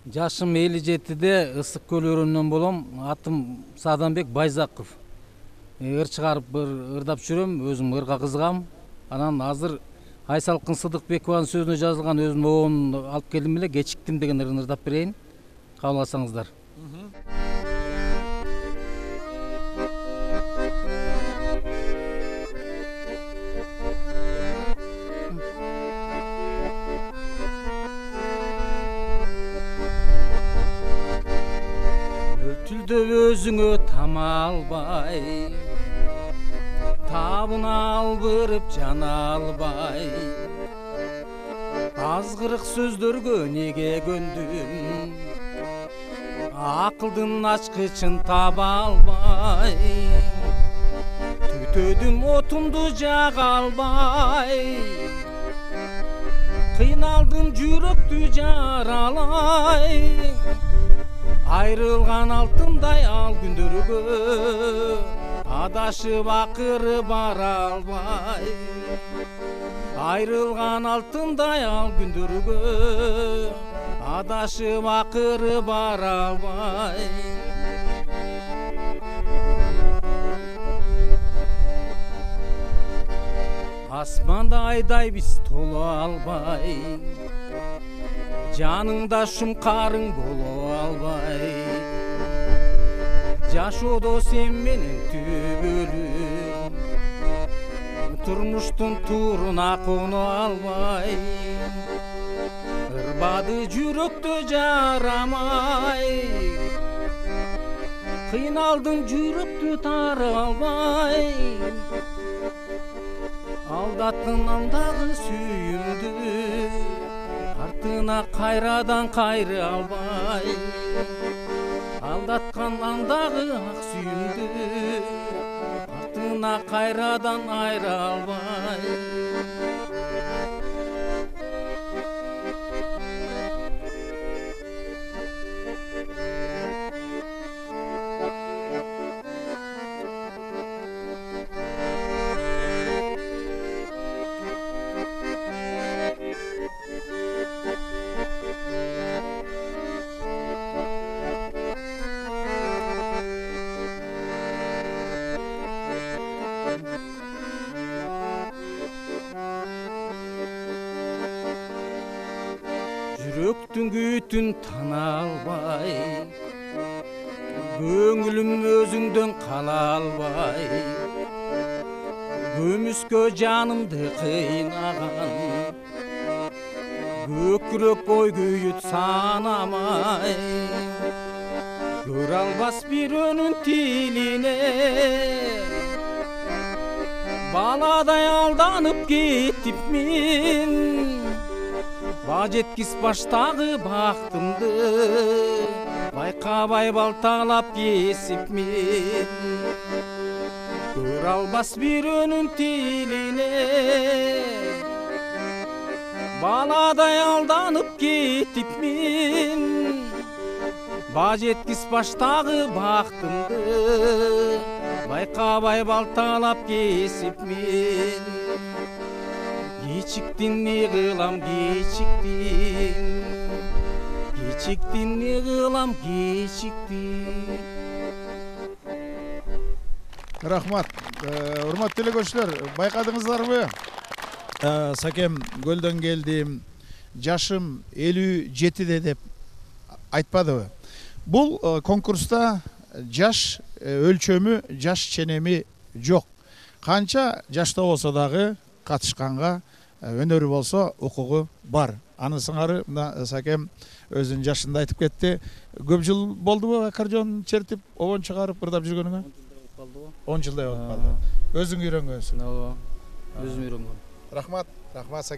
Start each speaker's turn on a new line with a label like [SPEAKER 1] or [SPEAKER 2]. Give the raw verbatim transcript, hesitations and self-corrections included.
[SPEAKER 1] Жашым элүү жетиде Ысык көл өрөөнүнөн болом. Атым Сааданбек Байзаков. Ыр чыгарып бир ырдап жүрөм, өзүм ырга кызыгам. Анан азыр Айсалкын Сыдыкбекованын сөзүнө жазылган өзүмдүн оонун алып келдим эле, Кечиктим деген ырын ырдап берейин. Кабыл алсаңыздар. Өлтүлдөп өзүңө тама албай, табына албырып жана албай, азгырык сөздөргө неге көндүм, акылдын ачкычын таба албай, түтөдүм отумду жага албай, кыйналдым жүрөктү жаралай, айрылган алтындай ал күндөргө адашып акыры бара албай, айрылган алтындай ал күндөргө адашып акыры бара албай. Асманда айдай биз толо албай, жаныңда шумкарың боло албай, жашоодо сен менен түбөлүм, турмуштун тууруна коно албай, ырбады жүрөктө жарамай, кыйналдым жүрөктү тара албай, алдаттың андагы сүйүмдү, артына кайрадан кайры албай, алдаткан андагы ак сүйүмдү, артына кайрадан айра албай. Жүрөктүн күйүтүн тана албай, көңүлүм өзүңдөн кала албай, көмүскө жанымды кыйнаган, көкүрөк ой күйүт санамай, көрө албас бирөөнүн тилине, баладай алданып кеттимин, ба жеткис баштагы бактымды, байкабай балталап кесипмин, көрө албас бирөөнүн тилине, баладай алданып кеттимин, ба жеткис баштагы бактымды, байкабай балталап кесипмин. Кечиктин не кылам, кечиктин, кечиктин не кылам, кечиктин.
[SPEAKER 2] Рахмат. Урматтуу эле көрүүчүлөр, байкадыңыздарбы? Сакем көлдөн келдим, жашым элүү жетиде деп айтпадыбы? Бул конкурста жаш өлчөмү, жаш ченеми жок. Канча жашта болсо дагы катышканга, өнөрү болсо укугу бар. Аны сыңары мына Сакем өзүнүн жашында айтып кетти. Көп жыл болдубу аккордеон чертип, обон чыгарып ырдап жүргөнүңө? он жылдай болуп калды. Өзүң үйрөнгөнсүң.
[SPEAKER 1] Ооба. Өзүм үйрөнгөм.
[SPEAKER 2] Рахмат, рахмат Сакем.